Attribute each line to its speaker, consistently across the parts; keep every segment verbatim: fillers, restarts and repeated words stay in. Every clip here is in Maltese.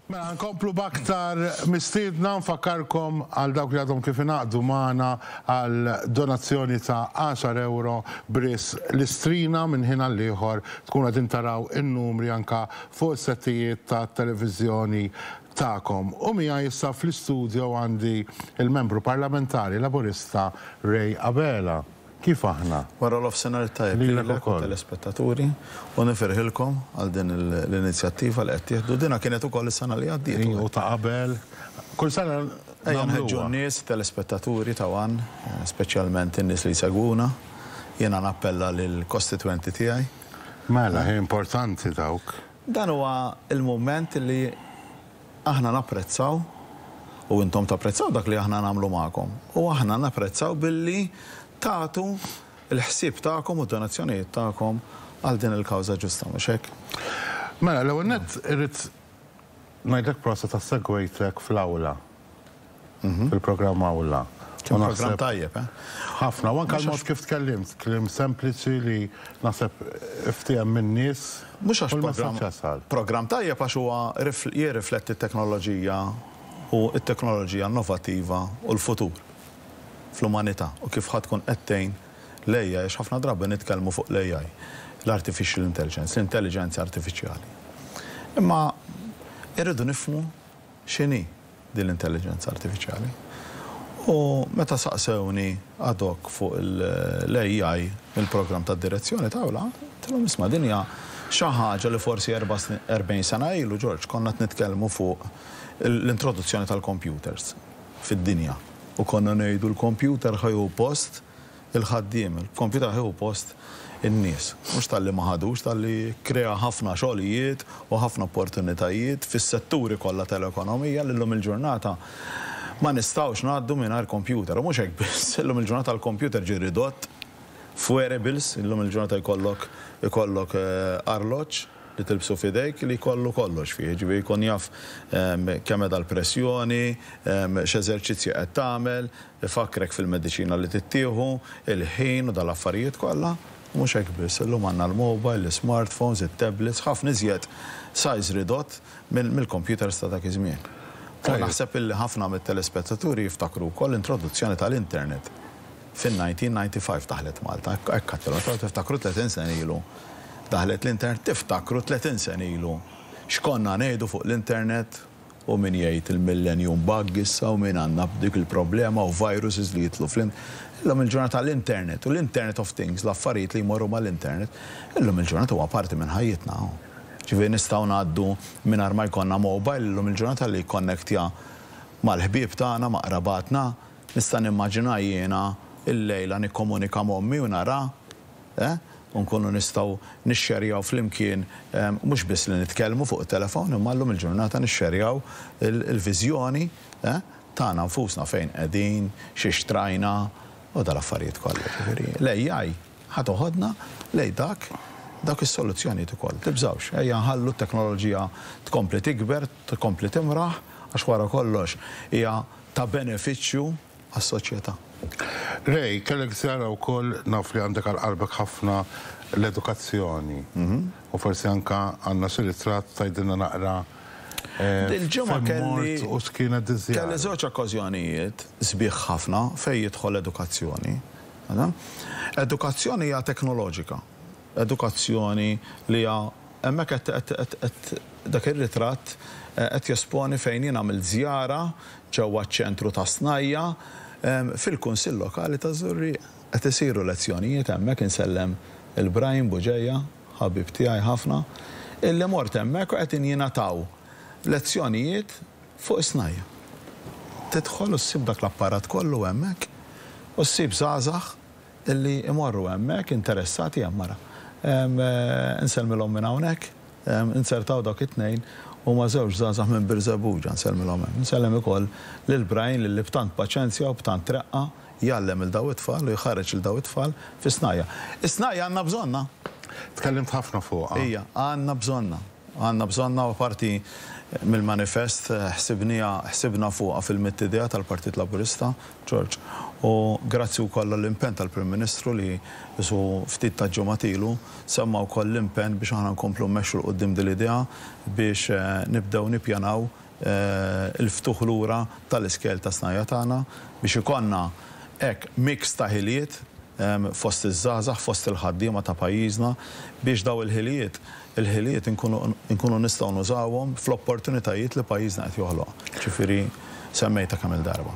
Speaker 1: Mela, nkomplu b'aktar mistiedna. Nfakkarkom għal dawk li għadhom kif ingħaqdu magħna għal donazzjoni ta' għaxar euro b'risq l-Istrina. Minn ħin għal ieħor tkun qegħdin taraw in-numri anka fuq settijiet ta' televiżjoni tagħkom. U miegħi issa fl-istudio għandi il-membru parlamentari Laburista Ray Abela. Kif aħna?
Speaker 2: Wara nofsinhar tajjeb
Speaker 1: lilek ukoll.
Speaker 2: Telespettaturi, u nifirħilkom għal din l-inizjattiva li qed tieħdu. Dina kienet ukoll is-sena li għaddiet.
Speaker 1: U ta' qabel. Kull sena.
Speaker 2: Ejja nħeġġu n-nies, telespettaturi ta' ONE, speċjalment in-nies li jsegwuna. Jiena nappella lill-kostitwenti tiegħi.
Speaker 1: Mela, hi importanti dawk.
Speaker 2: Dan huwa il-mument li aħna napprezzaw u intom tapprezzaw dak li aħna nagħmlu magħkom. U aħna napprezzaw billi tagħtu il-ħsieb tagħkom u donazzjonijiet tagħkom għal din il-kawża ġusta, mhux hekk?
Speaker 1: Mela, l-ewwel nett irrid ngħidlek prosit ta' segwejtek fl-awla. Fil-programm Awla.
Speaker 2: Kien programm tajjeb, eh?
Speaker 1: Ħafna, u anke l-mod kif tkellimt, kliem sempliċi li naħseb ftiehem min-nies.
Speaker 2: Mhux għax programm programm tajjeb, għax huwa jirrifletti t-teknoloġija u t-teknoloġija innovattiva u l-futur fl-umanità u kif ħa tkun qed tgħin l-A I, għax ħafna drabi nitkellmu fuq l-A I, l-artificial intelligence, l-intelligenza artifiċjali. Imma irridu nifhmu x'inhi din l-intelligenza artifiċjali. U meta saqsewni ad hoc fuq l-A I il-programm ta' direzzjoni ta' għedtilhom, "Isma', din hija xi ħaġa li forsi erbgħin sena ilu, George, konna nitkellmu fuq l-introduzzjoni tal-computers fid-dinja. U konna ngħidu l-computer ħa jieħu post il-ħaddiem, il-computer ħa jieħu post in-nies. Mhux talli ma ħadux, talli krea ħafna xogħlijiet u ħafna opportunitajiet fis-setturi kollha tal-ekonomija li llum il-ġurnata ma nistgħux ngħaddu mingħajr computer. U mhux hekk biss, illum il-ġurnata l-computer ġie ridott f'wearables, illum il-ġurnata jkollok ikollok eh, arloġġ li tilbsu f'idejk li jkollu kollox fih, ġifieri jkun jaf kemm qiegħda l-pressjoni, x'eżerċizzji qed tagħmel, ifakrek fil-mediċina li tittieħu, il-ħin u dal-affarijiet kollha. Mhux hekk biss, illum għandna l-mobile, l-smartphones, it-tablets, ħafna iżjed size ridott mill-computers ta' dak iż-żmien. U naħseb illi ħafna mit-telespettaturi jiftakru wkoll l-introduzzjoni tal-internet. Fin-elf disa' mija u disgħa u disgħin daħlet Malta, hekk tiftakru tletin sena ilu. Daħlet l-internet, tiftakru tletin sena ilu x'konna ngħidu fuq l-internet, u min jgħid il-millennium bug issa u min għandna dik il-problema u viruses li jidħlu fl Illum il-ġurnata l-internet u l-Internet of Things, l-affarijiet li jmorru mal-internet, illum il-ġurnata huwa parti minn ħajjitna. Ġifieri nistgħu ngħaddu mingħajr ma jkollna mobile illum il-ġurnata li jikkonnektja mal-ħbieb tagħna, ma' qrabatna? Nista' nimmaġina jiena il-lejla nikkomunika m'ommi u nara, eh? U nkunu nistgħu nixxerjaw flimkien, mhux biss li nitkellmu fuq it-telefon, imma llum il-ġurnata nixxerjaw il-viżjoni eh, tagħna nfusna, fejn qegħdin, xi xtrajna u dal-affarijiet kollha. Ġifieri l-A I ħa toħodna lejn dak dak is-soluzzjonijiet ukoll. Tibżawx, ejja nħallu t-teknoloġija tkompli tikber, tkompli timraħ, għax wara kollox hija ta' benefiċċju għas-soċjetà.
Speaker 1: Ray, kellek żjara wkoll, naf li għandek għal qalbek ħafna l-edukazzjoni. U forsi anka għandna xi ritratt, tgħidilna naqra eh,
Speaker 2: Dil-ġimgħa
Speaker 1: fejn
Speaker 2: kelli
Speaker 1: mort u x'kienet diżjara.
Speaker 2: Kelli żewġ okkażjonijiet sbieħ ħafna fejn jidħol edukazzjoni. Għada? Edukazzjoni hija teknoloġika. Edukazzjoni li hija hemmhekk qed- qed- qed- qed- dak ir-ritratt eh, qed jesponi fejn jien għamilt żjara ġewwa ċ-ċentru ta' Snajja em, fil-Kunsill Lokali ta' Żurrieq. Qed isiru lezzjonijiet hemmhekk. Insellem lil Brian Buġeja, ħabib tiegħi ħafna, illi mort hemmhekk u qed jingħataw lezzjonijiet fuq snajja. Tidħol u ssib dak l-apparat kollu hemmhekk u ssib żgħażagħ illi imorru hemmhekk interessati hemm mara. Em, eh, Insellmilhom minn hawnhekk, em, insertaw dak it-tnejn, huma żewġ żgħażagħ minn Birżebbuġa, nsellmilhom hemm. Nsellem ukoll lil Brian li b'tant paċenzja u b'tant reqqa jgħallem lil daw it-tfal u jħarreġ lil daw it-tfal fi snajja. Is-snajja għandna bżonna.
Speaker 1: Tkellimt ħafna fuqha.
Speaker 2: Ija, għandna bżonna. Għandna bżonna u parti mill-manifest eh, ħsibnija, ħsibna fuqha fil-mitt idea tal-Partit Laburista, George. U grazzi wkoll l-impenn tal-Prim Ministru li su ftit ta' ġimgħat ilu semma wkoll l-impenn biex aħna nkomplu mmexxu 'l quddiem din l-idea biex nibdew nippjanaw il-ftuħ lura tal-iskejjel ta' snajja tagħna biex ikollna hekk mix ta' ħiliet fost iż-żgħażagħ, fost il-ħaddiema ta' pajjiżna biex daw il-ħiliet il-ħiliet inkunu nistgħu nużawhom fl-opportunitajiet li pajjiżna qed joħloq. Ġifieri semmejta kemm il-darba.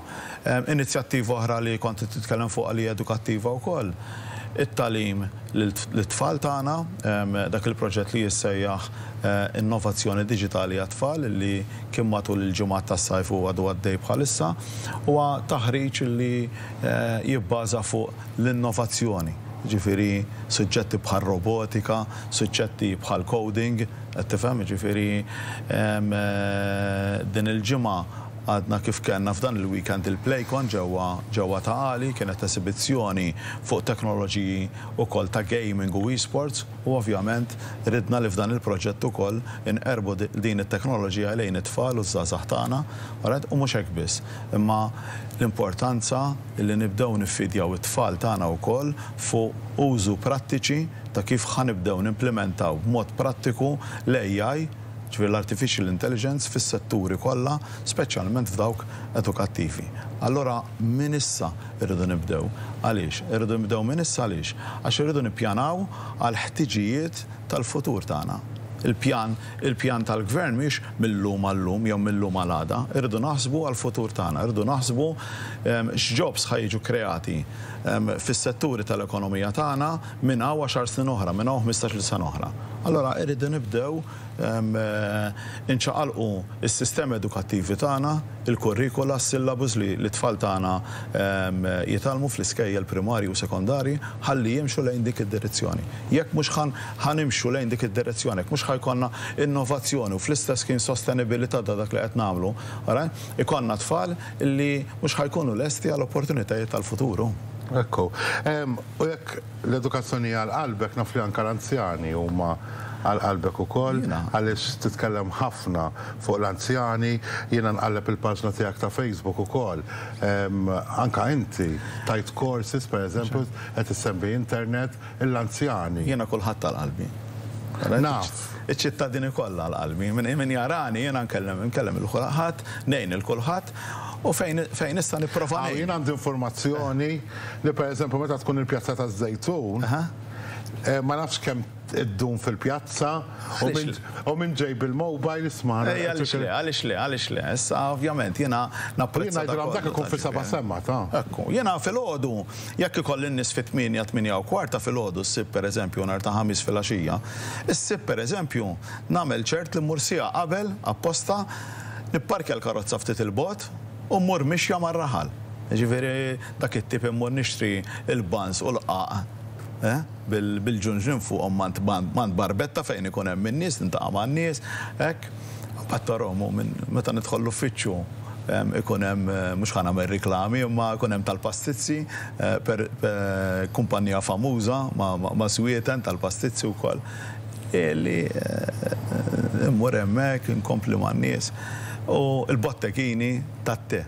Speaker 2: Inizjattiva oħra li kont titkellem fuq li edukattiva wkoll, it-tagħlim lit-tfal tagħna, dak il-proġett li jissejjaħ innovazzjoni diġitali għat-tfal li kien matul il-ġimgħat tas-sajf u għadu għaddej bħalissa, huwa taħriġ li jibbaża fuq l-innovazzjoni. Ġifieri suġġetti bħal robotika, suġġetti bħal coding, qed tifhem, ġifieri din il-ġimgħa għadna kif kellna f'dan il-weekend il-Playcon ġewwa ġewwa ta' Għali, kienet esibizzjoni fuq teknoloġiji wkoll ta' gaming u e-sports u ovvjament ridna li f'dan il-proġett ukoll inqerbu din it-teknoloġija lejn it-tfal u ż-żgħażagħ tagħna, u mhux hekk biss, imma l-importanza li nibdew niffidjaw it-tfal tagħna wkoll fuq użu prattiċi ta' kif ħa nibdew nimplementaw b'mod prattiku l-A I, ġifieri l-Artificial Intelligence, fis-setturi kollha, speċjalment f'dawk edukattivi. Allora minn issa irridu nibdew. Għaliex? Irridu nibdew minn issa għaliex? Għax irridu nippjanaw għal ħtiġijiet tal-futur tagħna. Il-pjan, il-pjan tal-gvern mhix mill-lum għal-lum jew mill-lum għal-għada. Irridu naħsbu għal-futur tagħna, irridu naħsbu x'jobs ħa jiġu kreati fis-setturi tal-ekonomija tagħna minn hawn għaxar snin oħra, minn hawn ħmistax-il sena oħra. Allora irridu nibdew inċaqalqu is-sistemi edukattivi tagħna, il-kurrikula, s-syllabus li l-tfal tagħna jitgħallmu fl-iskejjel primarji u sekondarji ħalli jimxu lejn dik id-direzzjoni. Jekk mhux ħa nimxu lejn dik id-direzzjoni, jekk mhux ħa jkollna innovazzjoni u fl-istess kien sostenibilità ta' dak li qed nagħmlu, ikollna tfal li mhux ħa jkunu lesti għall opportunitajiet tal-futuru.
Speaker 1: Ekku. U jekk l-edukazzjoni għal qalbek, naf li anke l-anzjani huma għal qalbek ukoll, għaliex titkellem ħafna fuq l-anzjani, jiena nqalleb il-paġna tiegħek ta' Facebook ukoll. Anka inti tajt courses, per eżempju, qed issemmi internet l-anzjani.
Speaker 2: Jiena kulħadd għal qalbi.
Speaker 1: Naf.
Speaker 2: Iċ-ċittadini kollha għal qalbi. Min jarani jiena nkellem nkellem il kulħadd, ngħin il kulħadd u fejn fejn nista' nipprova.
Speaker 1: Jien għandi informazzjoni li, per eżempju, meta tkun il-pjazza taż-Żejtun, ma nafx kemm iddum fil-pjazza u minn ġej bil-mobile isma'.
Speaker 2: Għaliex le, għaliex le, għaliex le. Issa ovvjament jiena
Speaker 1: napprezza. Jiena dak ikun fi seba' semma ta'.
Speaker 2: Ekku, jiena filgħodu jekk ikolli n-nies fit-tmienja, tmienja u kwarta filgħodu ssib, pereżempju, nhar ta' Ħamis filgħaxija, issib, pereżempju, nagħmel ċert li mmur siegħa qabel apposta, nipparkja l-karozza ftit il-bogħod u mmur mixja mar-raħal. Ġifieri dak it-tip immur nixtri il-buns u l-qaq bil-ġunġun fuqhom mant barbetta fejn ikun hemm in-nies, nintaqa' man-nies, hekk. Mbagħad tarahom minn meta nidħol l-uffiċċju ikun hemm, mhux ħa nagħmel riklami, imma ikun hemm tal-pastizzi per kumpanija famuża ma' Swieten tal-pastizzi wkoll. Li immur hemmhekk inkompli man-nies. U l-bottekini tat-te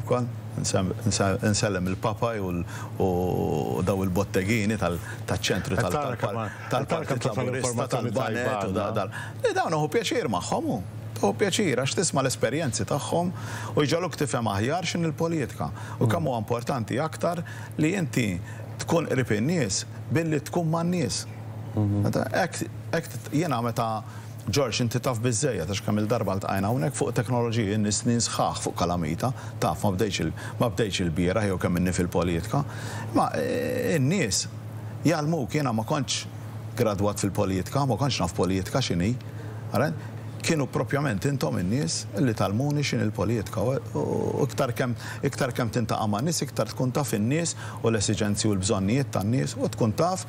Speaker 2: ukoll. Nsellem il-Papa u daw il-bottegini tal-ċentru tal-Partit Laburista, tal-Banet u dal. Dawn hu pjaċir magħhom hu. Hu pjaċir għax tisma' l-esperjenzi tagħhom u jġagħluk tifhem aħjar x'in il-politika. U kemm huwa importanti aktar li inti tkun qrib in-nies billi tkun man-nies. Hekk jiena meta George, inti taf biżejjed għax kemm il-darba ltqajna hawnhekk fuq teknoloġiji, n-nies snin sħaħ fuq kalamita, taf ma bdejx ma bdejx il-bieraħ jew kemm inni fil-politika. Ma n-nies jgħallmuk, jiena ma kontx gradwat fil-politika, ma kontx naf politika x'inhi. Kienu propjament intom in-nies li tgħallmuni x'inhi l-politika. U iktar kemm iktar kemm tintaqa' ma' nies, iktar tkun taf in-nies u l-esiġenzi u l-bżonnijiet tan-nies u tkun taf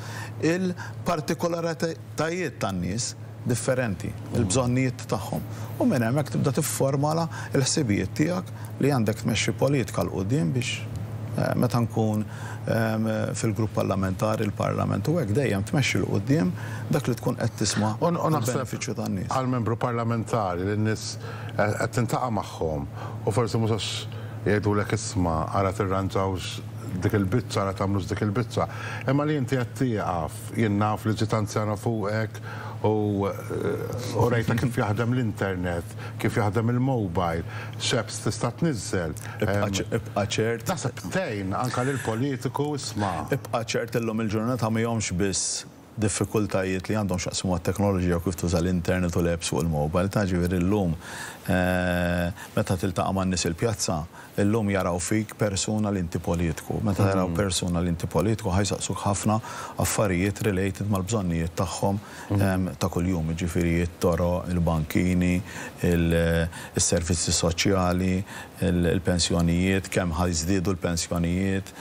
Speaker 2: il-partikolaritajiet tan-nies differenti, il-bżonnijiet tagħhom. U minn hemmhekk tibda tifformala l-ħsibijiet tiegħek li għandek tmexxi politika 'l quddiem biex meta nkun fil-grupp parlamentari, il-parlament u hekk dejjem tmexxi 'l quddiem dak li tkun qed tisma' għall-benefiċċju tan-nies.
Speaker 1: Għal-membru parlamentari li n-nies qed tintaqa' magħhom u forsi mhux għax jgħidulek isma' ara tirranġawx dik il-biċċa, la tagħmlux dik il-biċċa. Imma li inti qed tieqaf, jien naf li ġiet anzjana fuqek u u rejta kif jaħdem l-internet, kif jaħdem il-mobile, x'apps tista' tniżżel.
Speaker 2: Ibqa' ċert.
Speaker 1: Naħseb tgħin anke lill-politiku isma'.
Speaker 2: Ibqa' ċert illum il-ġurnata mhijomx biss diffikultajiet li għandhom x'jaqsmu għat-teknoloġija u kif tuża l-internet u l-apps fuq il-mobile. Ta' ġifieri llum meta tiltaqa' man-nies il-pjazza, illum jaraw fik persuna li inti politiku. Meta jaraw persuna li inti politiku ħa jsaqsuk ħafna affarijiet related mal-bżonnijiet tagħhom ta' kuljum, ġifieri it-toroq, il-bankini, il-servizzi soċjali, il-pensjonijiet, kemm ħa jiżdiedu l-pensjonijiet,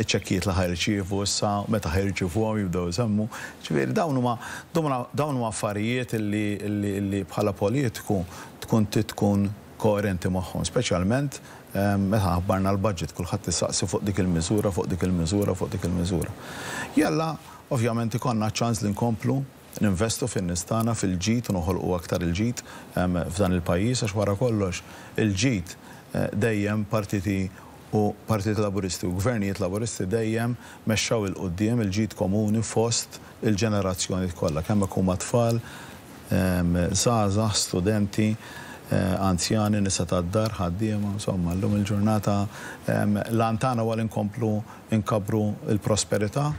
Speaker 2: iċ-ċekkijiet li ħa jirċievu issa, meta ħa jirċievuhom jibdew isemmu. Ġifieri dawn huma dawn huma affarijiet illi bħala politiku tkun tkun koerenti magħhom, speċjalment meta ħabbarna l-budget, kulħadd issaqsi fuq dik il-miżura, fuq dik il-miżura, fuq dik il-miżura. Jalla, ovvjament ikollna ċans li nkomplu ninvestu fin-nies tagħna fil-ġid u noħolqu aktar il-ġid f'dan il-pajjiż, għax wara kollox il-ġid dejjem partiti u partiti laburisti u gvernijiet laburisti dejjem mexxaw 'il quddiem il-ġid komuni fost il-ġenerazzjoni kollha, kemm huma tfal, żgħażagħ, studenti, anzjani, nisa tad-dar, ħaddiema, insomma, llum il-ġurnata l-għan tagħna huwa li nkomplu nkabbru l-prosperità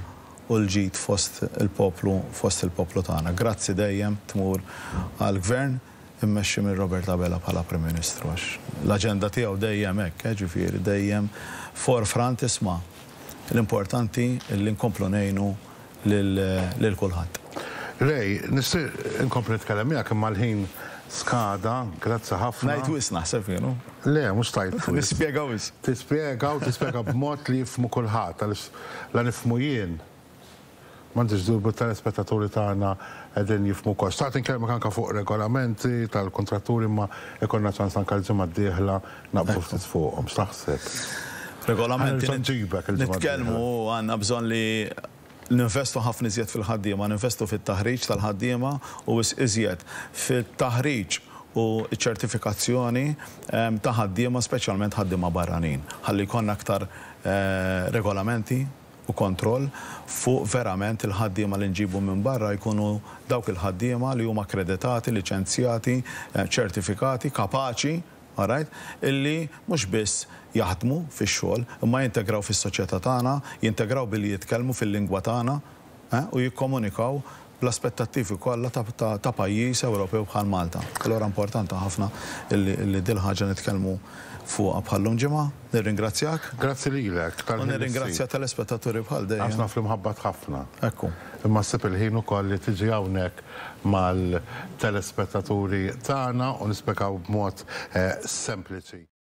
Speaker 2: u l-ġid fost il-poplu, fost il-poplu tagħna. Grazzi dejjem tmur għall-gvern immexxi minn Robert Abela bħala Prim Ministru, għax l-aġenda tiegħu dejjem hekk, ġifieri dejjem forefront isma' l-importanti li nkomplu ngħinu lil kulħadd.
Speaker 1: Ray, nixtieq inkompli nitkellem miegħek imma l-ħin skada, grazzi ħafna.
Speaker 2: Ngħid wisq naħseb jien.
Speaker 1: Le, mhux tajt wisq.
Speaker 2: Nispjega wisq.
Speaker 1: Tispjega u tispjega b'mod li jifhmu kulħadd, għaliex la nifhmu jien. M'għandix dubju telespettaturi tagħna qegħdin jifhmu wkoll. Xtaqt inkellmek anke fuq regolamenti tal-kontratturi imma ikollna ċans anke l-ġimgħa d-dieħla naqbdu ftit fuqhom. X'taħseb?
Speaker 2: Regolamenti nitkellmu għandna bżonn li ninvestu ħafna iżjed fil-ħaddiema, ninvestu fit-taħriġ tal-ħaddiema u iżjed fit-taħriġ u ċertifikazzjoni ta' ħaddiema, speċjalment ħaddiema barranin. Ħalli jkollna aktar regolamenti u kontroll fuq verament il-ħaddiema li nġibu minn barra jkunu dawk il-ħaddiema li huma akkreditati, liċenzjati, ċertifikati, kapaċi, alright, illi mhux biss jaħdmu fix-xogħol, imma jintegraw fis-soċjetà tagħna, jintegraw billi jitkellmu fil-lingwa tagħna u jikkomunikaw bl-aspettattivi kollha ta' pajjiż Ewropew bħal Malta. Allura importanti ħafna illi dil ħaġa nitkellmu fuqha bħallum ġimgħa. Nirringrazzjak.
Speaker 1: Grazzi lilek.
Speaker 2: U nirringrazzja telespettaturi bħal dejjem.
Speaker 1: Għax naf li mħabbat ħafna.
Speaker 2: Ekku.
Speaker 1: Imma ssib il-ħin ukoll li tiġi hawnhekk mal-telespettaturi tagħna u nispjegaw b'mod sempliċi.